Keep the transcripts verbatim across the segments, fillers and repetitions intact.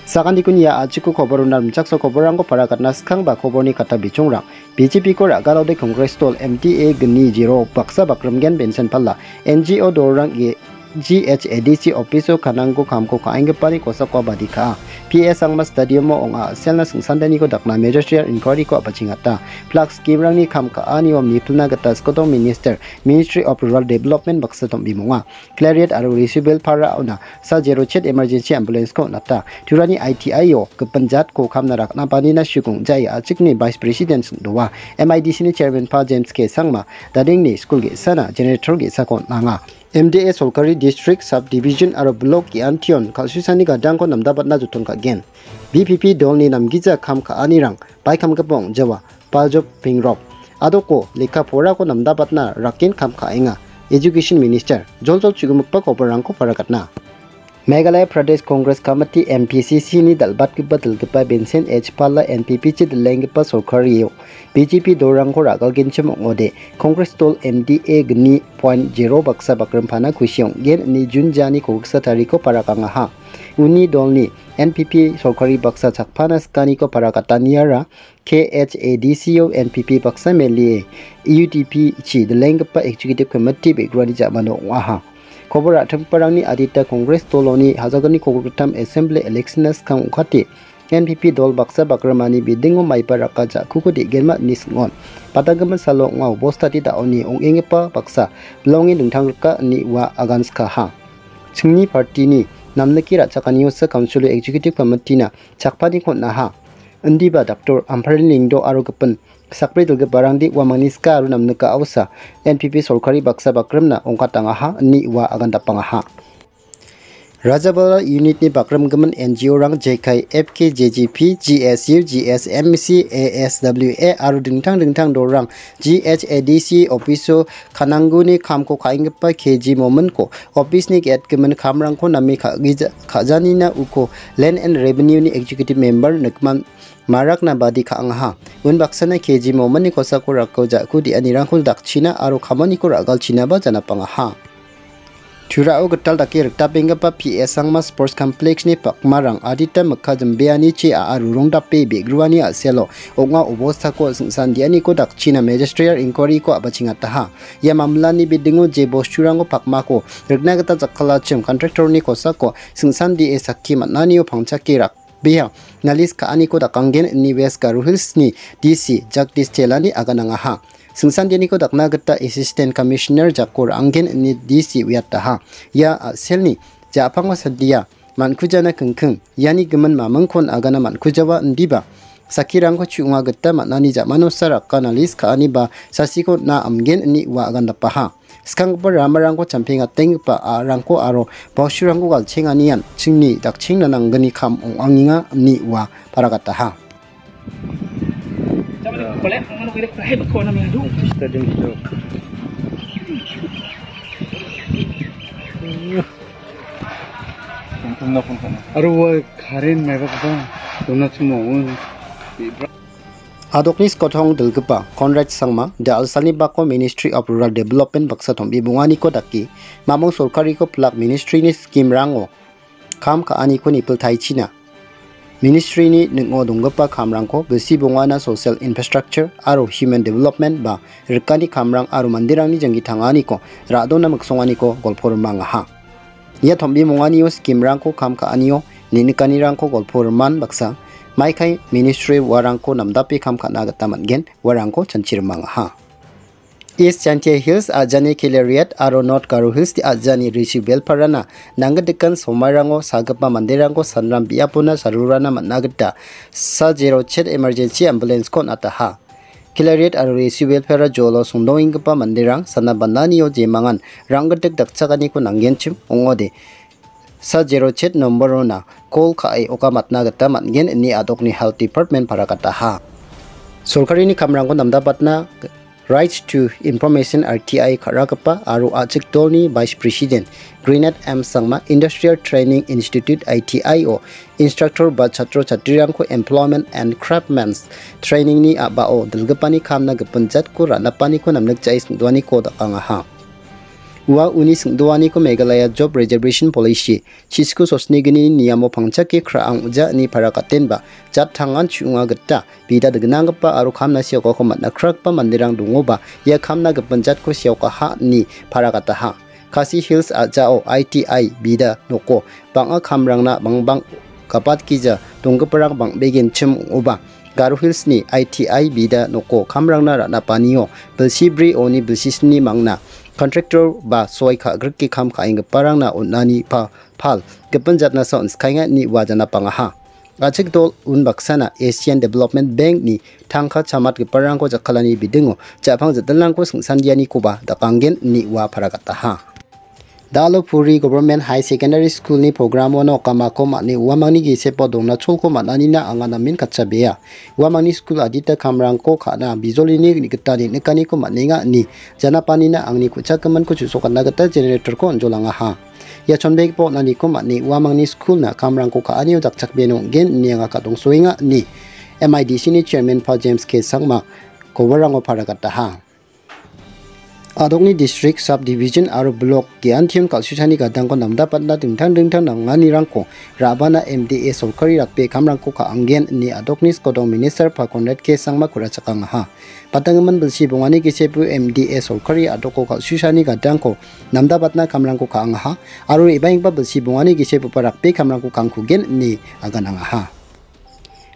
Sakantikon ia a·chiko koborona rimchakso koborrangko parakatna skangba koborni kata bichongrang B J P-ko ra·galode Congress dol M D A gni jero baksa bakrimgen Bensen Pala, N G O dolrang G H A D C opiso kanangko kamko ka·enggipani kosako abadi ka·a. P A Sangma Stadium-o ong·a a·selna singsandaniko dakna magisterial inquiry-ko a·bachengata. Plak scheme-rangni kam ka·anio mipilna gita Skotong Minister, Ministry of Rural Development baksa tom·bimonga. Clariet aro Risubil Para-ona sa zero chet emergency ambulance-ko on·ata. Turani I T I-o gipin jatko kamna rakna banina sukong jai a·chikni Vice President sing·doa. M I D C-ni Chairman Pa James K Sangma, dadengni skul ge·sana generator ge·sako on·anga. M D A sorkari district, subdivision aro blok ge·antion kal·susani gadangko namdabatna joton ka·gen. B P P dolni namgija kam ka·anirang baikamgipa ong·jawa, Paljop Pingrop. Adoko lekka porako namdabatna raken kam ka·enga. Education Minister, joljol chu·gimikba koborrangko parakatna. Meghalaya Pradesh Congress Committee, M P C C-ni dal·batgipa dilgipa Bensen H Pala N P P chi dilenggipa sorkario B J P dolrangko ra·galgenchim ong·ode, Congress dol M D A gni point zero baksa bakrimpana kusi ong·gen ine June jani kogiksa tariko parakangaha. Uni dolni N P P sorkari baksa chakpana sikaniko parakataniara K H A D C-o N P P baksa melie U D P chi dilenggipa Executive Committee be·grani ja·mano ong·aha. Kobor ra·trimgiparangni adita Congress doloni hajalgni kogilgittam Assembly election-na skang ong·kate N P P dol baksa bakrimani bidingo maiba raka ja·kuko de·genma ine sing·on. Padanggimin salo ong·a obostati da·oni ong·enggipa baksa bilonge dingtang rika ine ua agan sikaha. Chingni partini namnike ra·chakaniosa Council Executive Committee-na chakpaniko on·aha. Indiba Doctor Amparini Lengdo aro gipin sakbri dilgiparangde uamangni sika aro namnika a·osa N P P sorkari baksa bakrimna ong·katangaha ine ua agandapangaha. Rajabala unit-ni bakrimgimin N G O-rang jekai F K J G P, G S U, G S M C, A S W A aro dingtang dingtang dolrang G H A D C opiso kanangguni kamko ka·enggipa K G Mominko opisni ge·atgimin kamrangko name ka·gija-, ka·janina uko Land and Revenue-ni Executive Member Nikman Marakna badi ka·angaha. Unbaksana K G Mominni kosako rako ja·ku de·anirangko dakchina aro kamaniko ra·galchinaba janapangaha. Turao gital dake rikdapenggipa P S Sangma Sports Complex-ni pakmarang adita mikka jimbeanichi a·a rurongdape be·gruani a·selo ong·a obostako singsandianiko dakchina magisterial inquiry-ko a·bachengataha. Ia mamlani bidingo je bosturangko pakmako rikna gita jakkalachim contractor-ni kosako singsandie sakki man·anio pangchake rak- bia nalis ka·aniko dakanggen ine West Garo Hills-ni D C Jagdish Chelani aganangaha. Singsandianiko dakna gita Assistant Commissioner jako ra·anggen ine D C uiataha. Ia a·selni ja·pango sandia man·kujana kingking, iani gimin mamingkon agana man·kujawa indiba, sakkirangko chu·onga gita man·ani ja·manosa raka nalis ka·ani ba sasiko on·a amgen ine ua agandapaha. Skanggipa ramarangko champengatenggipa a·rangko aro bosturangko galchenganian chingni dakchengna nanggni kam ong·angenga ine ua paragataha. Aro ua karen maibakba dona chimo. Adokni skotong dilgipa Conrad Sangma, The Alsalni bako Ministry of Rural Development baksa tom·bibonganiko dake, mamung sorkariko plak ministry-ni scheme-rango kam ka·aniko nipiltaichina. Ministry-ni ning·o donggipa kamrangko bilsi bongana social infrastructure aro human development ba rikani kamrang aro manderangni janggi tanganiko ra·dona miksonganiko golpo rimangaha. Ia tombimonganio scheme-rangko kam ka·anio ninikanirangko golpo riman baksa, maikai ministry uarangko namdape kam ka·na gita man·gen, uarangko chanchi rimangaha. East Jaintia Hills a·jani Kilariat aro North Garo Hills a·jani Rishi Belparana nanggitgikan somairango sagipa manderangko sanram biapona sarurana man·a gita sa zero chet emergency ambulance-ko on·ataha. Kilariat aro Rishi Belpara jolo songdongenggipa manderang sana bananio jemangan ranggitik dakchakaniko nanggenchim ong·ode. Sa zero chet nombor-ona call ka·e okamatna gita man·gen ine adokni Health Department paragataha. Sorkarini kamrangko namdabatna Rights to Information R T I ka·ragipa aro a·chik dolni Vice President Grenade M Sangma Industrial Training Institute I T I-o instructor ba chatro chatrirangko Employment and Craftsman's Training-ni a·bao dilgipani kamna gipin jatko ra·napaniko namnikjae singdoaniko dakangaha. Ua uni singdoaniko Meghalaya Job Reservation Policy, chisku sosnigini niamo pangchake kra·ang uja ine para katenba, jat tangan chu·onga gita, bida dignanggipa aro kamna seokako man·a kragipa manderang dongoba, ia kamna gipin jatko seokaha ine para kataha. Khasi Hills a·jao I T I bida noko bang·a kamrangna bangbang gapatgija donggiparang bang·begenchim ong·oba. Garo Hills-ni I T I bida noko kamrangna ra·napanio bilsi bri oni bilsisni mangna kontraktor ba soi ka·grike kam ka·enggiparangna on·ani pa-, pal gipin jatnasa on·skaenga ine ua janapangaha. A·chik dol unbaksana Asian Development Bank-ni tangka chamatgiparangko jakkalani bidingo ja·pang ja·dilrangko singsandianikoba dakanggen ine ua paragataha. Dalopuri Government High Secondary School-ni programo nokamako man·e uamangni gisepo dongna cholko man·anina anga namen katchabea. Uamangni skul adita kamrangko ka·na bijolini gita neng·nikaniko man·enga ine janapanina angni ku·chakgiminko chu·sokatna gita generator-ko on·jolangaha. Ia chonbegipa on·aniko man·e uamangni skulna kamrangko ka·anio dakchakbeno ong·gen ine anga kadongsoenga ine M I D C-ni chairman-pa James K Sangma koborrango paragataha. Adokni district, subdivision aro block ge·antion kal·suchani gadangko namdapatna dingtang dingtang nanganirangko ra·bana M D A sorkari rakbe kamrangko ka·anggen ine adokni skodong minister-pa Conrad K Sangma ku·rachakangaha. Patanggimin bilsi bongani gisepo M D A sorkari adoko kal·suchani gadangko namdapatna kamrangko ka·angaha aro re·baenggipa bilsi bongani gisepoba rakbe kamrangko kangkugen ine aganangaha.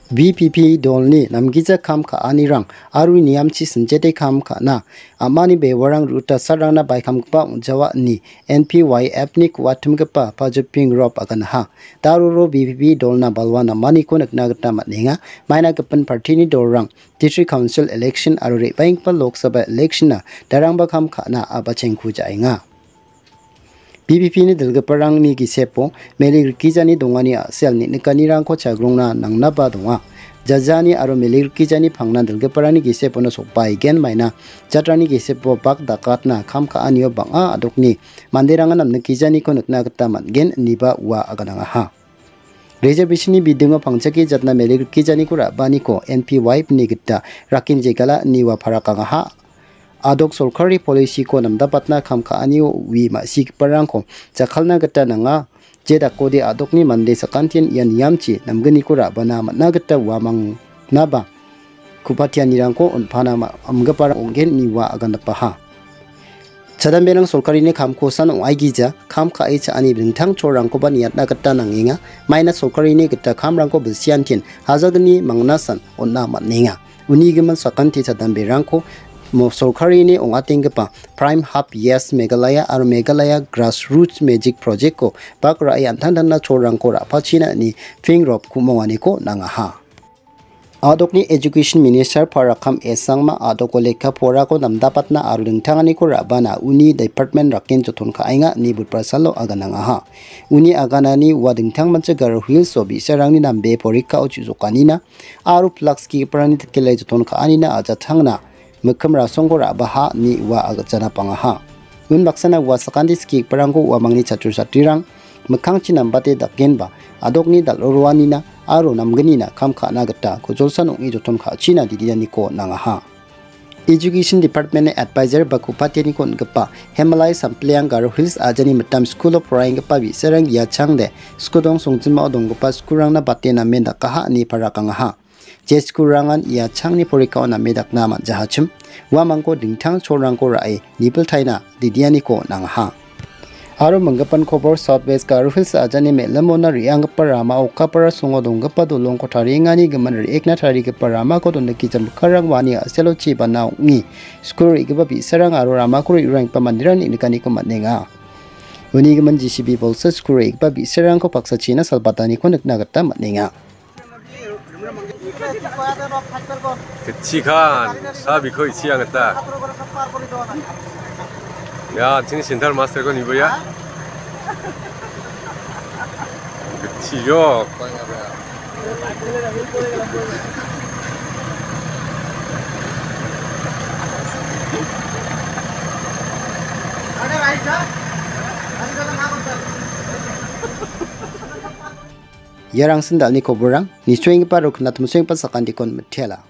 B P P dolni namgija kam ka·anirang aro niamchi sinjete kam ka·na amani bewarang ruta salrangna baikamgipa ong·jawa ine N P Y F-ni ku·atimgipa Pajoping Rop aganaha. Daroro B P P dolna balwa namaniko nikna gita man·enga. Maina gipin party-ni dolrang District Council election aro re·baenggipa Lok Sabha election-na darangba kam ka·na a·bachengku ja·enga. B P P-ni dilgiparangni gisepo melik rikgijani dongani a·sel neng·nikanirangko chagrongna nangnaba donga. Jajani aro melik rikgijani pangnan dilgiparangni gisepono sokbaegen maina jatrangni gisepo bak dakatna kam ka·anio bang·a adokni manderangan namnikgijaniko nikna gita man·gen ineba ua aganangaha. Reservation-ni bidingo pangchake jatna melik rikgijaniko ra·baaniko N P Y F-ni gita rakin jegala ine ua parakangaha. Adok sorkari policy-ko namdapatna kam ka·anio ui ma·sigiparangko jakkalna gita nanga. Je dakode adokni mande sakantian ia niamchi namgniko ra·bana man·a gita uamangnaba ku·patianirangko on·pana ma-, amgiparang ong·gen ine ua agandapaha. Chadamberang sorkarini kamkosan ong·aigija, kam ka·e cha·ani dingtang cholrangkoba niatna gita nangenga. Maina sorkarini gita kamrangko bilsiantin hajalgni mangnasan on·a man·enga. Unigimin sakanti chadamberangko mo-, sorkarini ong·atenggipa Prime Hub Yes Meghalaya aro Meghalaya Grassroots Magic Project-ko bak ra·e an·tangtangna cholrangko ra·pachina ine Ping Rop ku·monganiko nangaha. Adokni Education Minister Parakam S Sangma adoko lekka porako namdapatna aro dingtanganiko ra·bana uni department raken joton ka·enga ine budbasalo aganangaha. Uni aganani ua dingtangmancha Garo Hills-o bi·sarangni nambe porikao chu·jokanina aro pilak skigiparangni tikele joton ka·anina ajatangna mikkim rasongko ra·baha ine ua agachana pangaha. Unbaksana ua sakante skigiparangko uamangni chatro chatrirang mikkangchi nambate dakenba adokni dal·oroanina aro namgnina kam ka·na gita kujolsan ong·e joton ka·china didianiko nangaha. Education Department-ni advisor ba ku·patianiko on·gipa Hemalai Sampliang Garo Hills ajani mitam skulo poraienggipa bi·sarang ia changde skudong songjinmao donggipa skulrangna bate namen dakaha ine parakangaha. Je skulrangan ia changni porikao name dakna man·jahachim, uamangko dingtang cholrangko ra·e nibiltaina didianiko nangaha. Aro minggipan kobor South West Garo Hills ajani me·limona re·anggipa rama Okapara songo donggipa dolongko tariengani gimin re·ekna tarigipa ramako dondikija mikkanrang uani a·selo chibana ong·e skul re·gipa bi·sarang aro ramako re·ranggipa manderang neng·nikaniko man·enga. Uni gimin J C B bolsa skul re·gipa bi·sarangko paksachina salbataniko nikna gita man·enga. Kecikhan, sabiko isi angata. Ya, sini center master ko nibo ya. Kecil yo. Iarangsin dal·ni koborang, nisoenggipa aro knatmsoenggipa sakantikon mitela.